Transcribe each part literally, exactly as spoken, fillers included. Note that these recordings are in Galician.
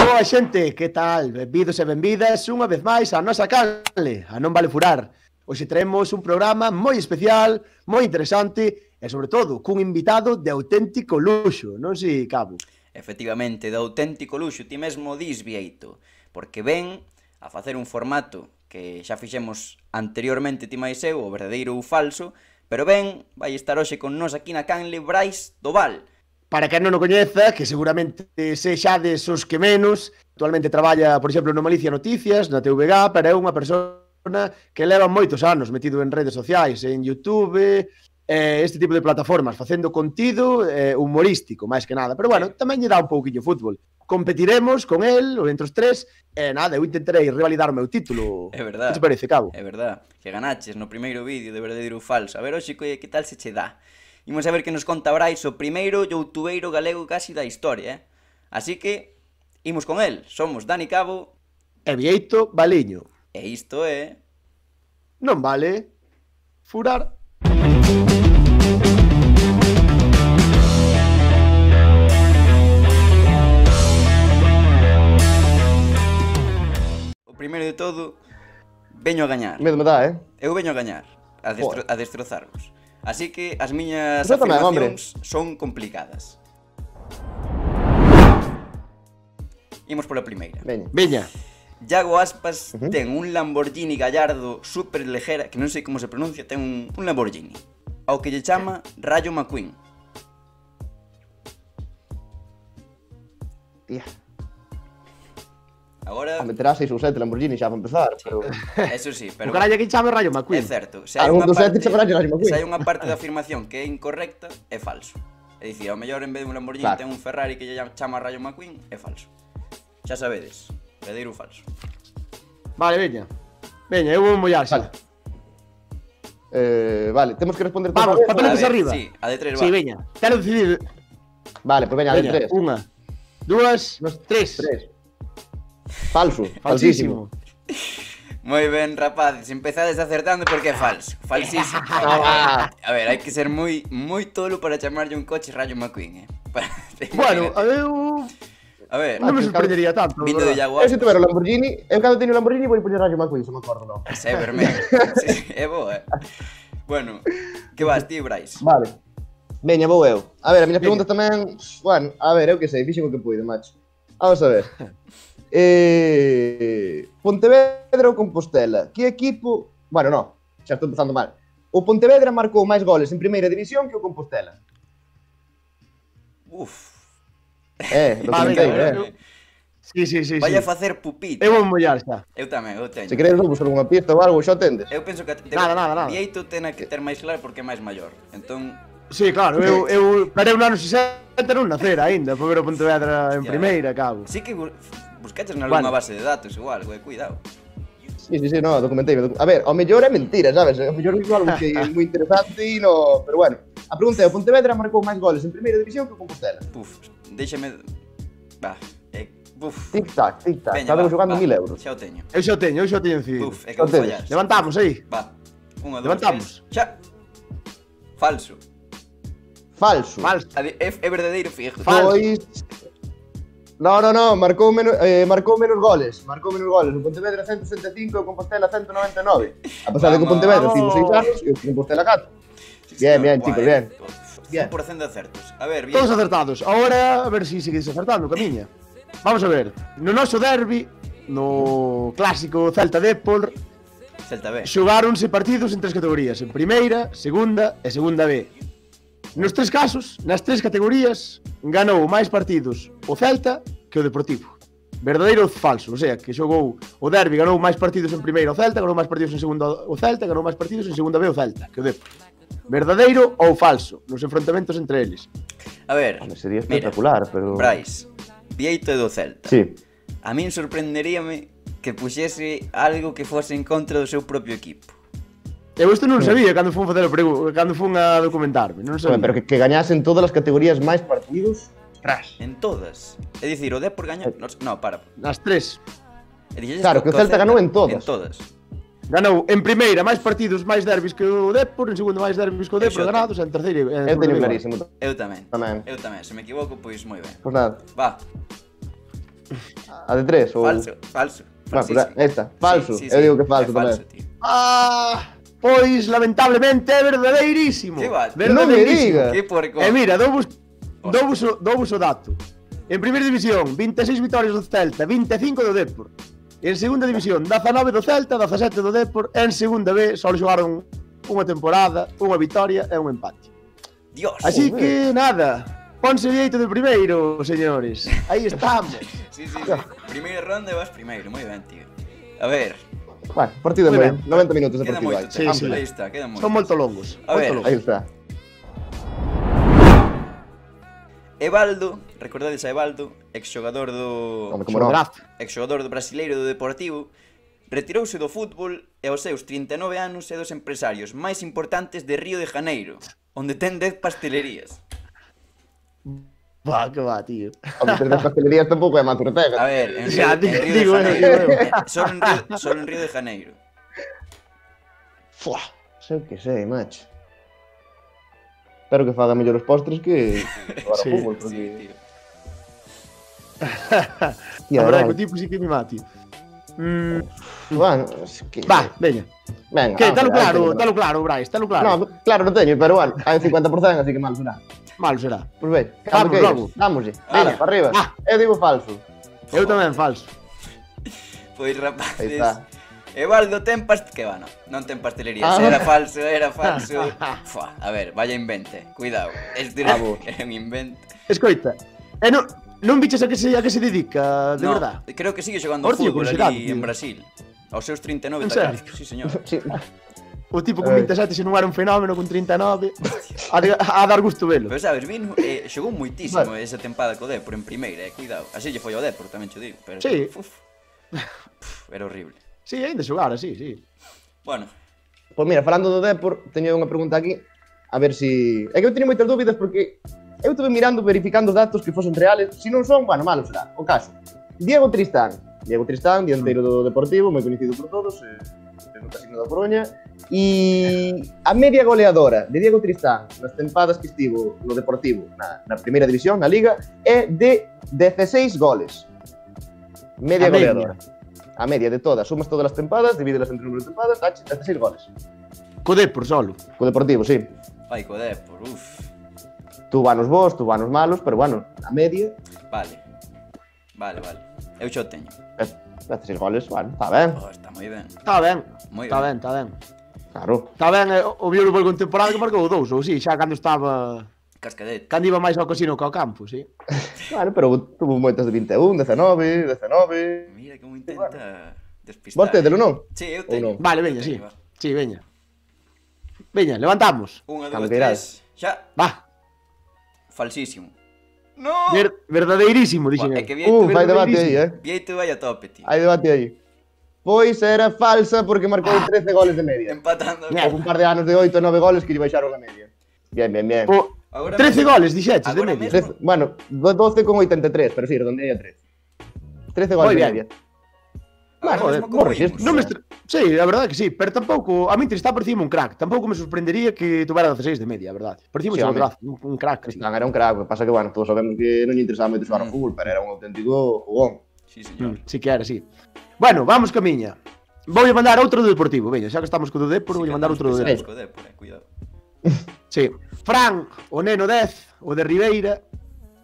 Boa xente, que tal? Benvidos e benvidas unha vez máis á nosa canle, a Non Vale Furar. Hoxe traemos un programa moi especial, moi interesante e, sobre todo, cun invitado de auténtico luxo, non si, Cabo? Efectivamente, de auténtico luxo, ti mesmo dis, Vieito, porque ven a facer un formato que xa fixemos anteriormente ti máis eu, o verdadeiro ou falso, pero ben, vai estar hoxe con nós aquí na canle Brais Doval. Para quen non o coñeza, que seguramente sexades os que menos, actualmente traballa, por exemplo, no Malicia Noticias, na T V G, pero é unha persona que leva moitos anos metido en redes sociais, en YouTube, eh, este tipo de plataformas, facendo contido eh, humorístico, máis que nada. Pero bueno, tamén lle dá un pouquinho fútbol. Competiremos con el, ou entre os tres, e nada, eu intentarei revalidar o meu título. É verdad. Que te parece, Cabo? É verdad, que ganaches no primeiro vídeo de verdadeiro ou falso. A ver, hoxe, que, que tal se che dá? Imos a ver que nos conta Brais, o primeiro youtubeiro galego casi da historia, eh? Así que, imos con el. Somos Dani Cabo e Vieito Baliño. E isto é... Non vale furar. O primeiro de todo, veño a gañar. Medo me dá, eh? Eu veño a gañar, a, destro a destrozarvos. Así que as miñas Eso tamén, afirmacións son complicadas. Imos pola primeira. Veña. Veña. Iago Aspas Uh-huh. ten un Lamborghini Gallardo super lejera, que non sei como se pronuncia, ten un, un Lamborghini, ao que lle chama Rayo McQueen. Tía, Agora, a meterá seis ou sete Lamborghini xa para empezar, pero... eso sí, pero O carallo que chame Rayo é McQueen. certo, se Ah, hai un unha dos sete parte, chamará Rayo McQueen. se hai unha parte da afirmación que é incorrecta, é falso. É dicir, ao mellor en vez de un Lamborghini Claro. ten un Ferrari que lle chama Rayo McQueen, é falso. Xa sabedes, verdadeiro ou falso. Vale, veña. Veña, eu vou mollar xa. Vale. Eh, vale, temos que responder Vamos, todos. papel- A Peletes ver, arriba. sí, a de tres Sí, va. veña. Quero decidir. Vale, pues veña, de Veña, tres. unha, dúas, tres. Tres. Falso. Falsísimo. Moi ben, rapaces, empezades acertando porque é falso. Falsísimo. Ah. A ver, hai que ser moi moi tolo para chamarlle un coche Rayo McQueen, eh. Para- Bueno, a ver, a ver, non me que sorprendería tanto. vindo de verdad. Iago Eu se Aspas, tuver o Lamborghini, eu cando teño o Lamborghini vou poñer Rayo McQueen, se me acordo, non? ese é vermelho. Sí, é boa, eh. Bueno, que vas, ti, Brais? Vale. Veña, vou eu. A ver, a miña Veña. pregunta tamén... Bueno, a ver, eu que sei, fixen o que puido, macho. Vamos a ver. Eh, Pontevedra ou Compostela? Que equipo... Bueno, non, xa estou empezando mal. O Pontevedra marcou máis goles en primeira división que o Compostela. Uf, Eh, lo Vale, comentei, venga, eh. eu- Sí, sí, sí, vai a sí. facer pupita. Eu vou mollar xa. Eu tamén, eu teño. Se queredes vou buscar unha pista ou algo, xa tendes. Eu penso que te... Nada, nada, nada. Vieito ten que ter máis claro porque é máis maior. Entón, Sí, claro, eu, eu parei un ano sesenta non nacer aínda, para ver o Pontevedra en Hostia. primeira, cabo. sí que bu- buscaches nalgúna Bueno. base de datos igual, güey, cuidado. Sí, sí, sí, no, documentei. docu- A ver, ao mellor é mentira, sabes? Ao mellor digo algo que é moi interesante e no... Pero bueno, a pregunta é, o Pontevedra marcou máis goles en primeira división que o Compostela. Puf, déxame... Va, eh, puf. Tic-tac, tic-tac, Veña, estabas va, jugando va, mil euros. Xa o teño. Eu xa o teño, eu xa o teño decidido. Puf, é que vou Entonces, fallar. Levantamos aí. Va, unha, dous, Levantamos. tres, xa. Falso. Falso. Falso. A de- É, é verdadeiro fijo. Falso. Pois... No, no, no, marcou menos, eh, marcou menos goles, marcou menos goles. O Pontevedra ciento sesenta e cinco e o Compostela ciento noventa e nove. A pesar de que o Vamos. Pontevedra tivo seis anos e o Compostela catro. Sí, Bien, señor. bien, Guai, chicos, bien. cien por cento de acertos. A ver, bien. Todos acertados. Ahora, a ver se si seguís acertando, camiña. Vamos a ver. No noso derbi, no clásico Celta Dépol, Celta B. xogáronse partidos en tres categorías. En primeira, segunda e segunda B. Nos tres casos, nas tres categorías, ganou máis partidos o Celta que o Deportivo. Verdadeiro ou falso, o sea, que xogou o derbi, ganou máis partidos en primeira o Celta, ganou máis partidos en segunda o Celta, ganou máis partidos en segunda B o Celta que o Depor. Verdadeiro ou falso nos enfrontamentos entre eles. A ver, Home, sería mira, espectacular, pero... Brais, Vieito é do Celta. Sí. A min sorprenderíame que puxese algo que fose en contra do seu propio equipo. Eu isto non sabía cando fun facer o pregu... cando fun a documentarme, non sabía. Home, pero que, que gañasen todas as categorías máis partidos. Tras. En todas. É dicir, o Depor gañou... No, no, para. Nas tres. E dixeches Claro, que o Celta ganou en todas. En todas. Ganou en primeira máis partidos máis derbis que o Depor, en segundo máis derbis que o Depor Eso. ganados, en terceira e en Eu segunda teño igual. clarísimo. Eu tamén. Tamén. Eu tamén. Se me equivoco, pois moi ben. Pois nada. Va. A de tres? Ou... Falso, falso. Bueno, pues falsísimo. esta, falso. Sí, sí, Eu sí, digo que falso é falso, tamén. tío. Ah, pois lamentablemente é verdadeirísimo. Que va? Non me diga. Que porco. E mira, douvos, douvos, o, douvos o dato. En primeira división, vinte e seis vitorias do Celta, vinte e cinco do Depor. En segunda división, dezanove do Celta, dezasete do Depor. En segunda B, só xogaron unha temporada, unha vitoria e un empate. Dios. Así que, nada, ponse dieito de primeiro, señores. Aí estamos. Sí, sí, sí. Primeira ronda e vas primeiro, moi ben, tío. A ver, Bueno, partido Muy de ben. noventa minutos de queda partido moito. hai. Sí, tempo, sí. Aí está, queda moito. Son moito longos. A ver. moito Aí longos. está. Evaldo, recordades a Evaldo, exxogador do Home, como non. Draft. exxogador do brasileiro do Deportivo, retirouse do fútbol e aos seus trinta e nove anos é dos empresarios máis importantes de Río de Janeiro, onde ten dez pastelerías. Va, que va, tío. Home, tres das pastelerías tampouco é Manto A Ortega. ver, en Río, Ya, en digo, Río de digo, Janeiro, digo, eh, solo, en Río, solo en Río de Janeiro. Fua, sei que sei, macho. Espero que faga mellor os postres que agora Sí, o fútbol, Sí, porque... tío. Tía, A verdade vale. que o tipo sí que me mati. Mm, Bueno, es que... va, veña. Venga, Que, vamos talo a ver, claro, venga. talo claro, Brais, talo claro. No, claro, non teño, pero bueno, hai un cincuenta por cento, así que mal será. Malo será. Pois ben, Vamos, cando queiras, logo. dámoslle. Ala. Venga, para arriba. Ah. Eu digo falso. Eu tamén falso. Pois Aí rapaces, está. Evaldo ten past... Que va, no, non ten pastelerías, Ah. era falso, era falso. Fua, a ver, vaya invente, cuidado. Este era, Bravo. era un invento. Escoita, e non, non biches a que se, a que se dedica, de No, verdad? creo que sigue xogando Ahora teño fútbol curiosidade, ali tío. en Brasil. Aos seus trinta e nove En tacados, serio? sí, señor. Sí. O tipo con Eh. vinte e sete se non era un fenómeno con trinta e nove. A, de, a dar gusto velo. Pero sabes, vino, eh, xogou moitísimo Vale. esa tempada co Depor en primeira, eh, cuidado. Así lle foi ao Depor, tamén cho digo, pero Sí. uf, uf, era horrible. Sí, ainda xogara, sí, sí. Bueno, Pois mira, falando do Depor, teño unha pregunta aquí, a ver si... É que eu teño moitas dúbidas porque eu estuve mirando, verificando datos que fosen reales, se non son, bueno, malo será. O caso, Diego Tristán, Diego Tristán, dianteiro do Deportivo, moi coñecido por todos, eh, no Casino da Coruña, e a media goleadora de Diego Tristán nas tempadas que estivo no Deportivo, na, na primeira división, na Liga, é de dezasseis goles. Media A media. goleadora. A media de todas, sumas todas as tempadas, divídelas entre o número de tempadas, dache dezasseis goles. Co Depor solo. Co Deportivo, sí. vai co Depor, uf. Tuvo anos bons, tuvo anos malos, pero bueno, a media, Vale. Vale, vale. Eu xa o teño. dezasseis goles, bueno, está ben, Oh, está moi ben. Está ben, Moi está ben. ben, está ben. claro. Está ben, eh, o viu no con temporada que marcou dous, ou si, xa cando estaba... Cascadete. Cando iba máis ao casino que ao campo, si. Bueno, pero tuvo moitas de vinte e un, dezanove, dezanove... Mira como intenta despistar. Vos tédelo, non? Sí, eu Ou teño. non? Vale, veña, Eu sí. teño, va. Sí, veña. Veña, levantamos. Unha, Cando dúas, queiras. tres. Xa. Va, Falsísimo. No. ver, verdadeirísimo, Buah, dixen é eu. que Vieito, Uh, fai debate aí, eh? Vieito vai a tope, tío. Hai debate aí. Pois era falsa porque marcou trece goles de media. Empatando. Mierda. Houve un par de anos de oito e nove goles que lle baixaron a media. Bien, bien, bien. O, Agora trece mesmo- goles, dixeches, de agora media. mesmo- Trece- bueno, doce con oitenta e tres, pero sí, redondei a trece. trece goles Moi de bien. media. Agora Joder, mesmo como morres, imos. Non me estre... Sí, a verdade que sí, pero tampouco... A mí está por encima un crack. Tampouco me sorprendería que tuvera dezasseis de media, a verdade. Por encima Sí, sí, home. un, un crack. Sí. Tristán era un crack, o que pasa que, bueno, todos sabemos que non lle interesaba moito xogar ao Mm. fútbol, pero era un auténtico jugón. Sí, señor. Mm, sí que era, sí. Bueno, vamos ca miña. Vou mandar outro do Deportivo, veña, xa que estamos co do Depor, vou Sí, mandar outro do cando Depor. empecemos co Depor, eh, cuidado. Sí. Fran, o neno dez, o de Ribeira,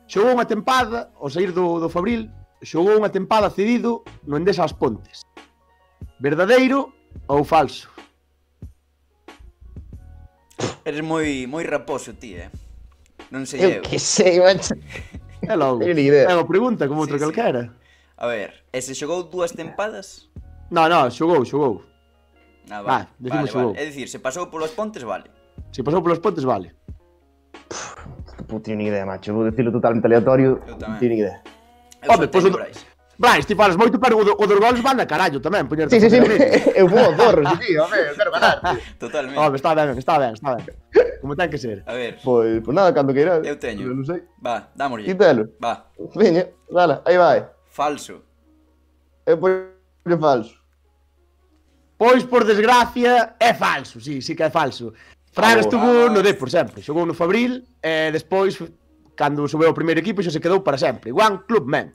xogou unha tempada, ao sair do, do Fabril, xogou unha tempada cedido no Endesa As Pontes. Verdadeiro ou falso? Eres moi moi raposo ti, eh. Non sei eu. Eu que sei, macho. É logo. Teño ni idea. É unha pregunta como outro Sí, sí. calquera. A ver, e se xogou dúas tempadas? No, no, xogou, xogou. Ah, Va, vale. decimos vale, xogou. vale. É dicir, se pasou polos pontes, vale. Se pasou polos pontes, vale. Non teño ni idea, macho. Vou dicirlo totalmente aleatorio. Eu Non tamén. teño ni idea. Eu Home, só pois teño o do- Brais. Brais, ti falas moito, pero o, do, o dos goles van a carallo tamén, poñerte Sí, sí, sí. a facer a media. Eu vou ao zorro, sí, sí, home, eu quero ganar. tío. Totalmente. Home, está ben, está ben, está ben. Como ten que ser. A ver, Pois, pois nada, cando queiras. Eu teño. Non sei. va, dámoslle. Quítalo. Va, Veña, dala, aí vai. falso. Eu poño falso. Pois, por desgracia, é falso, sí, sí que é falso. Fran Vamos. estuvo no Depor sempre, xogou no Fabril, e despois, cando subeu ao primeiro equipo, xa se quedou para sempre. One Club Man.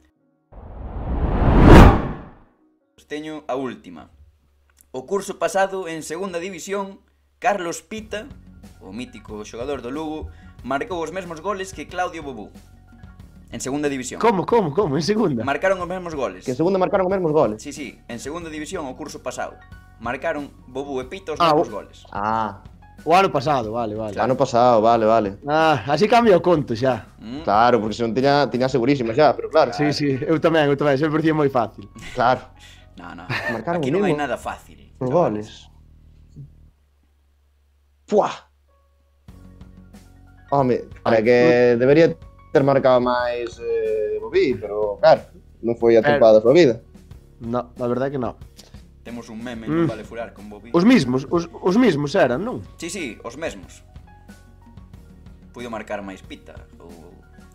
teño a última. O curso pasado en segunda división, Carlos Pita, o mítico xogador do Lugo, marcou os mesmos goles que Claudio Bobú. En segunda división. Como, como, como? En segunda? Marcaron os mesmos goles. Que en segunda marcaron os mesmos goles. Sí, sí, en segunda división o curso pasado. Marcaron Bobú e Pita os Ah, mesmos o- goles. Ah, O ano pasado, vale, vale. ano pasado, vale, vale. Ah, así cambia o conto xa. Mm, Claro, porque se non tiña, tiña segurísima xa, pero claro. Sí, sí, eu tamén, eu tamén, sempre parecía moi fácil. Claro, No, no. Marcaron Aquí o non hai mismo. nada fácil. os chavales. goles. Fuá. Home, para que debería ter marcado máis eh, Bobí, pero claro, non foi a Pero- tempada da súa vida. No, la verdad que no. Temos un meme, Mm. non vale furar con Bobby. Os mismos, os, os mismos eran, non? Sí, sí, os mesmos. Puido marcar máis Pita, ou,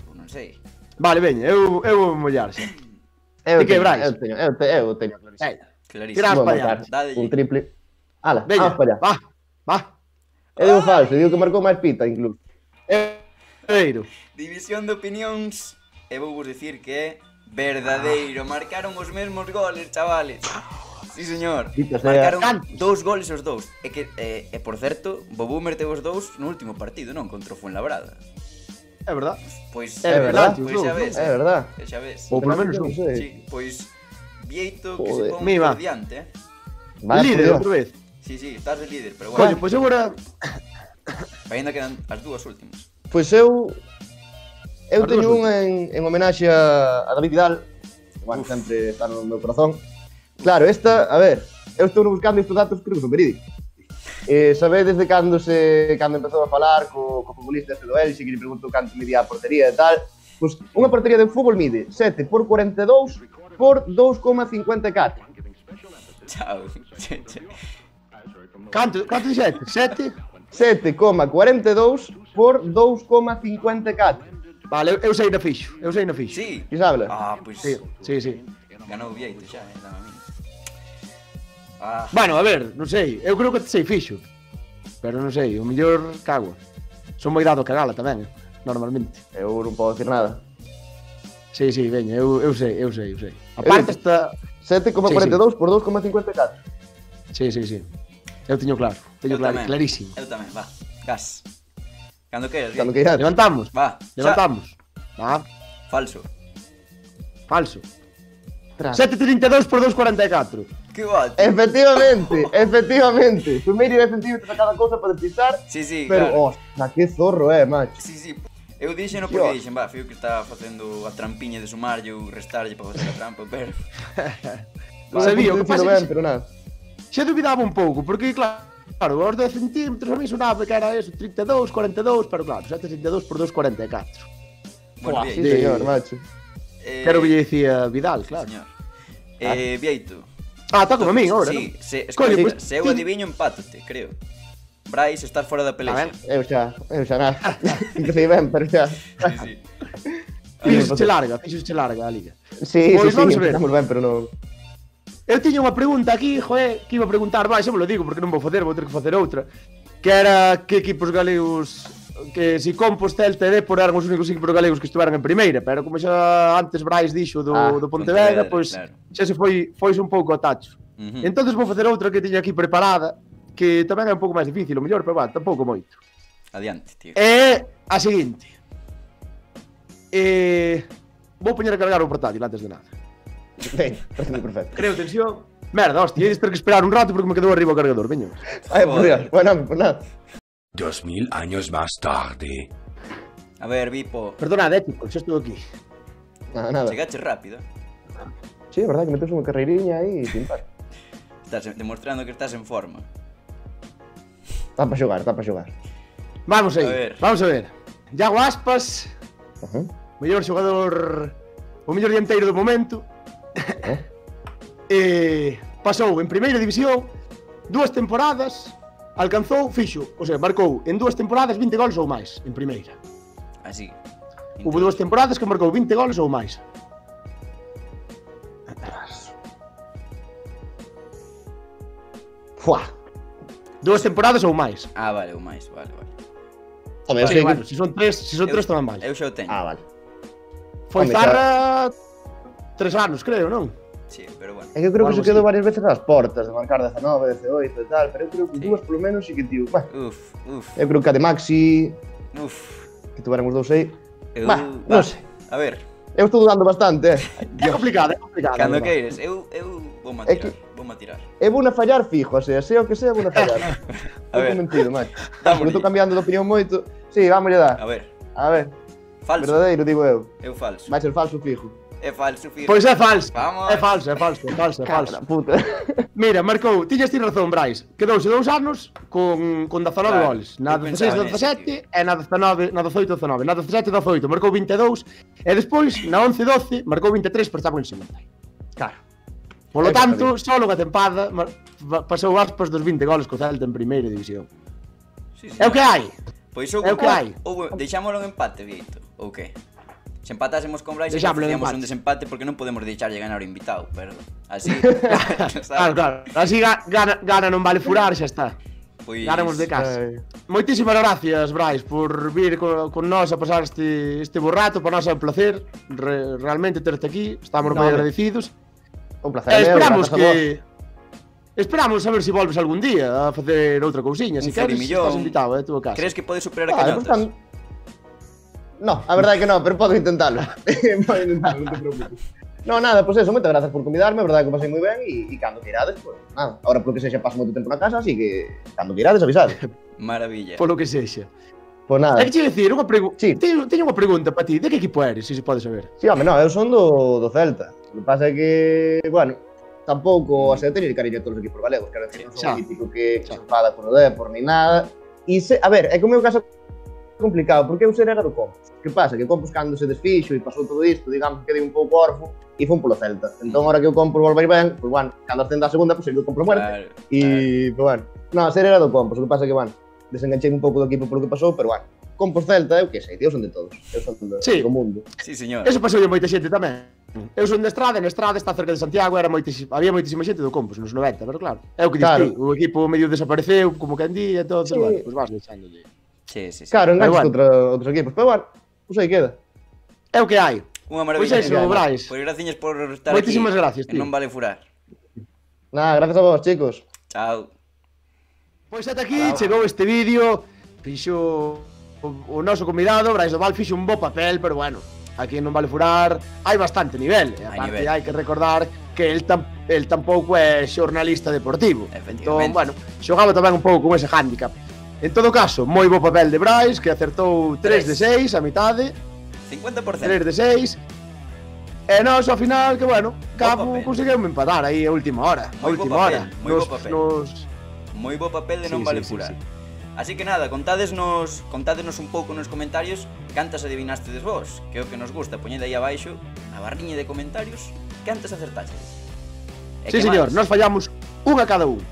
ou non sei. Vale, veña, eu, eu vou mollar xa. Eu Di que, teño, Brais? eu teño, eu teño, eu teño clarísimo. Veña, Clarísimo. Tirás Vou pa marcar allá. Dádelle. un triple. Ala, veña, vamos para allá. va, va. Eu digo falso, digo que marcou máis Pita incluso. Eiro. División de opinións. E vou vos dicir que é verdadeiro. Marcaron os mesmos goles, chavales. Sí, señor. Dito sea. Marcaron Cantos. dous goles os dous. E que, e, e por certo, Bobú meteu os dous no último partido, non? Contra o Fuenlabrada. É verdad. Pois, É verdad, pois os xa dous, ves. É verdad. eh, Xa ves. Ou polo menos Non un. sei. Sí, pois Vieito que Joder. se pon Mima. por diante, eh. Vaya, Líder por Dios. outra vez. Sí, sí, estás de líder, pero Coño, bueno, pois agora... ainda quedan as dúas últimas. Pois eu eu As teño dúas unha en, en homenaxe a, a David Vidal. Bueno, Uf. sempre está no meu corazón. Claro, esta, a ver, eu estou buscando estes datos, creo que son verídicos. Eh, sabedes de cando se cando empezou a falar co, co futbolista este do Elxe, que lle preguntou canto medía a portería e tal. Pois unha portería de fútbol mide sete por cuarenta e dous por dous coma cincuenta e catro. Chao. Che, che. Canto, canto dixete? Sete? sete coma cuarenta e dous por dous coma cincuenta e catro. Vale, eu, eu sei na fixo, eu sei na fixo. Sí. Que sabela? Ah, pois Sí, sí, sí. ganou Vieito xa, eh, dame a mí. Ah, Bueno, a ver, non sei, eu creo que te sei fixo. Pero non sei, o mellor cago. Son moi dado a cagala tamén, eh, normalmente. Eu non podo decir nada. Sí, sí, veña, eu, eu sei, eu sei, eu sei. A parte esta... sete coma cuarenta e dous por dous coma cincuenta e catro. Sí, sí, sí. Eu teño claro, teño eu claro, tamén. clarísimo. Eu tamén, va. Gas. Cando queras, Cando Vieito. que irás. Levantamos, Va. xa. levantamos. Va, Falso. falso. Tras. sete trinta e dous por dous cuarenta e catro. Que guapo. Efectivamente, efectivamente. Primeiro dez centímetros a cada cousa para despistar. Sí, sí, Pero, claro. ostras, que zorro é, macho. Sí, sí. Eu dixen porque Dios. dixen, va, fío que está facendo a trampiña de sumarlle ou restarlle para facer a trampa, pero... Non sabía, o que pasa é ben, que pero nada. xa dubidaba un pouco, porque claro, claro, os dez centímetros a mí sonaba que era eso, trinta e dous, cuarenta e dous, pero claro, sete trinta e dous por dous cuarenta e catro. Bueno, Buah, Sí, Vieito. de- señor, macho. Eh, Quero que lle dicía Vidal, sí, claro. señor. Eh, Vieito. Ah, está como a min agora, Sí, non? se, Coño, escoita, pois, se eu ti- adiviño, empátate, creo. Brais, estás fora da A pelexa. ver. Eu xa, eu xa nada. Empecé ben, pero xa. Sí, sí. Fixoche larga, fixoche larga a liga. Sí, Pois sí, vamos sí, a ver. empezamos ben, pero non. Eu tiña unha pregunta aquí, joe, que iba a preguntar, vai, xa me lo digo, porque non vou facer, vou ter que facer outra. Que era que equipos galegos, que si Compostela e Dépor eran os únicos equipos galegos que estuveran en primeira, pero como xa antes Brais dixo do, Ah, do Pontevedra, Pontevedra, pois claro. xa se foi, foise un pouco a tacho. Uh-huh. Entonces vou facer outra que tiña aquí preparada, que tamén é un pouco máis difícil, o mellor, pero va, tampouco moito. Adiante, tío. É a seguinte. Eh, vou poñer a cargar o portátil antes de nada. Ben, parece perfecto. Creo tensión. Merda, hostia, ides ter que esperar un rato porque me quedou arriba o cargador, veño. Ai, por Dios. Bueno, pues nada. Dos mil años más tarde. A ver, Vipo, Perdonad, eh, chicos, xa estou aquí. Nada, nada. chegache rápido. Sí, é verdad que metes unha carreiriña aí e pim, pam. Estás demostrando que estás en forma. Está para xogar, está para xogar. Vamos aí, A ver. vamos a ver. Iago Aspas, Ajá. mellor xogador, o mellor dianteiro do momento. Eh? eh, pasou en primeira división dúas temporadas, alcanzou, fixo, o sea, marcou en dúas temporadas vinte goles ou máis en primeira. Así. Hubo dúas temporadas que marcou vinte goles ou máis. Fuá. Dúas temporadas ou máis. Ah, vale, ou máis, vale, vale. Home, eu Sí, sei bueno, que... se son tres, se son Eu- tres tamén vale. Eu xa o teño. Ah, vale. Foi home, Zarra tres anos, creo, non? Sí, pero bueno. É que eu creo que Algo se quedou así. varias veces ás portas de marcar dezanove, dezaoito e tal, pero eu creo que Sí. dúas polo menos sí que tío. Bah, Uf, uf, eu creo que a de Maxi, uf. que tuveran os dous aí. Eu, Bah, non sei. A ver, Eu estou dudando bastante, eh. É complicado, é complicado. cando é verdade. queires, eu, eu vou a É tirar, que- vou a tirar. Eu vou na fallar fijo, o sea, sea o que sea, vou na fallar. A Estou ver. convencido, macho. Dámoslle. Porque estou cambiando de opinión moito. Sí, vamos a dar. A ver, A ver, falso, verdadeiro, digo eu. eu falso. Vai ser falso fijo. É falso, fijo. Pois é falso. Vamos. É falso, é falso, é falso, é falso. Cara, puta. Mira, marcou, tiñas ti razón, Brais. Quedouse dous anos con, con dezanove Claro, goles. Na eu dezasseis, pensaba dezasete e na dezanove, na dezoito, dezanove. Na dezasete, dezoito, marcou vinte e dous. E despois, na once, doce, marcou vinte e tres, pero estaba en segunda. Claro. Polo É tanto, só unha tempada mar- va- pasou Aspas dos vinte goles co Celta en primeira división. Sí, sí, É o que hai. Pois ou, é o que hai. ou deixámoslo en empate, Vieito, ou que? Se empatásemos con Brais, Deixámoslo en facíamos empate. un desempate porque non podemos deixarlle ganar o invitado, pero así, Claro, sabes? claro. Así ga- gana, gana non vale furar, xa está. Pois, Ganamos de casa. Ai. Moitísimas gracias, Brais, por vir con, con nós a pasar este, este borrato. Para nós é un placer re, realmente terte aquí. Estamos No, moi hombre. agradecidos. Un placer, E meu, esperamos grazas a vos. que... Esperamos a ver se volves algún día a facer outra cousiña. Un Se queres, forimillón. estás invitado, é a túa casa. crees que pode superar a Ah, Cañotas? portan- No, a verdade é que no, pero podo intentalo. Podo intentalo, non te preocupes. No, nada, pois pues eso, moitas grazas por convidarme, a verdade é que o pasei moi ben e, e cando queirades, pois pues, nada. Ahora polo que sexa paso moito tempo na casa, así que cando queirades avisade. Maravilla. Polo que sexa. Pois nada. É que che dicir, unha pregunta. Sí. Teño, teño unha pregunta para ti. De que equipo eres, se se pode saber? Sí, home, no, eu son do, do Celta. O que pasa é que, bueno, tampouco, o sea, eu teño cariño a todos os equipos galegos, quero decir, non son Xa. un típico que, que Xa. se enfada con o Depor ni nada. E se, a ver, é que o meu caso é complicado, porque eu ser era do Compos. Que pasa? Que o Compos cando se desfixo e pasou todo isto, digamos que quedei un pouco orfo e fun polo Celta. Entón, ahora que o Compos volve a ir ben, pois, bueno, cando ascenda a segunda, pois pues, eu compro muerte. Claro, E, pois, bueno, no, ser era do Compos, o que pasa é que, bueno, desenganchei un pouco do equipo polo que pasou, pero, bueno, Compos Celta, eu que sei, eu son de todos, eu son do, Sí. do mundo. sí, señor. Eso pasou moita xente tamén. Eu son de Estrada, e na Estrada está cerca de Santiago, era moitísima, había moitísima xente do Compos nos noventa, pero claro, é o que Claro. diste, o equipo medio desapareceu, como que andía, e todo, Sí. bueno, pues vas deixándolle. Sí, sí, sí. Claro, enganches bueno. contra outros equipos, pero, bueno, pois aí queda. É o que hai. Unha Pois maravilla. eso, Brais. Pois graciñas por estar Moitísimas aquí. gracias, E tío. non vale furar. Nada, gracias a vos, chicos. Chao. Pois ata aquí chegou este vídeo, fixo o, o noso convidado, Brais do Val, fixo un bo papel, pero bueno, aquí non vale furar, hai bastante nivel, e Hai aparte nivel. hai que recordar que el, tam, el tampouco é xornalista deportivo, entón, Efectivamente. bueno, xogaba tamén un pouco con ese hándicap. En todo caso, moi bo papel de Brais, que acertou tres de seis a mitade, cincuenta por cento. tres de seis, e nós ao final, que bueno, Cabo papel. conseguimos empatar aí a última hora, a Moi bo última papel, hora. moi bo Nos, papel. nos, Moi bo papel de non Sí, vale sí, sí, furar. sí. Así que nada, contádesnos, contádesnos un pouco nos comentarios cantas adivinastedes vos, que é o que nos gusta, poñede aí abaixo na barriña de comentarios cantas acertastedes. E Sí, que señor, máis? nós fallamos unha cada un.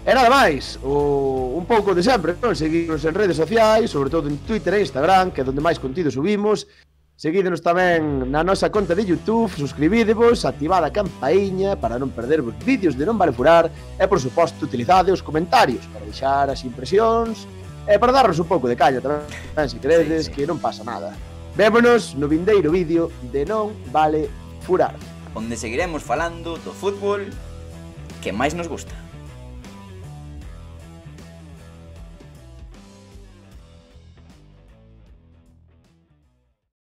E nada máis, o, un pouco de sempre, non? Seguirnos en redes sociais, sobre todo en Twitter e Instagram, que é onde máis contido subimos. Seguídenos tamén na nosa conta de YouTube, suscribídevos, activad a campaíña para non perdervos vídeos de Non Vale Furar e, por suposto, utilizade os comentarios para deixar as impresións e para darnos un pouco de caña tamén, se queredes, Sí, sí. que non pasa nada. Vémonos no vindeiro vídeo de Non Vale Furar. Onde seguiremos falando do fútbol que máis nos gusta.